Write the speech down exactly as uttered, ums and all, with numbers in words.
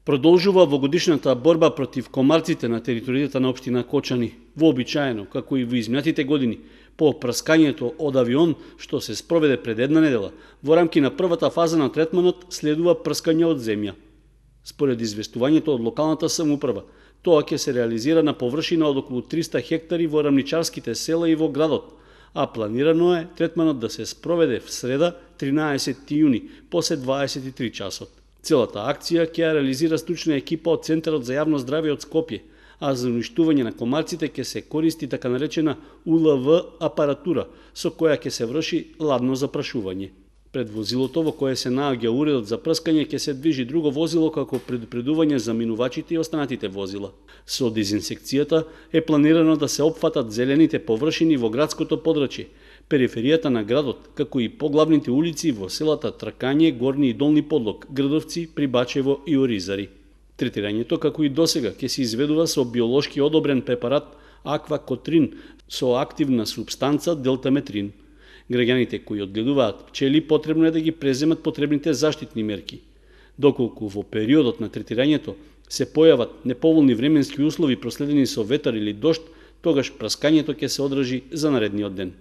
Продолжува вогодишната борба против комарците на територијата на општина Кочани, вообичаено, како и во изминатите години, по прскањето од авион што се спроведе пред една недела. Во рамки на првата фаза на третманот следува прскање од земја. Според известувањето од локалната самоуправа, тоа ќе се реализира на површина од околу триста хектари во рамничарските села и во градот, а планирано е третманот да се спроведе в среда тринаесети јуни после дваесет и три часот. Целата акција ќе ја реализира стручна екипа од Центарот за јавно здравје од Скопје, а за уништување на комарците ќе се користи така наречена У Л В апаратура, со која ќе се врши ладно запрашување. Пред возилото во кое се наоѓа уредот за прскање ќе се движи друго возило како предупредување за минувачите и останатите возила. Со дезинсекцијата е планирано да се опфатат зелените површини во градското подрачје, периферијата на градот, како и поглавните улици во селата Тркање, Горни и Долни Подлог, Грдовци, Прибачево и Оризари. Третирањето, како и досега, ќе се изведува со биолошки одобрен препарат аквакотрин со активна супстанца делтаметрин. Граѓаните кои одгледуваат пчели потребно е да ги преземат потребните заштитни мерки. Доколку во периодот на третирањето се појават неповолни временски услови проследени со ветар или дожд, тогаш праскањето ќе се одржи за наредниот ден.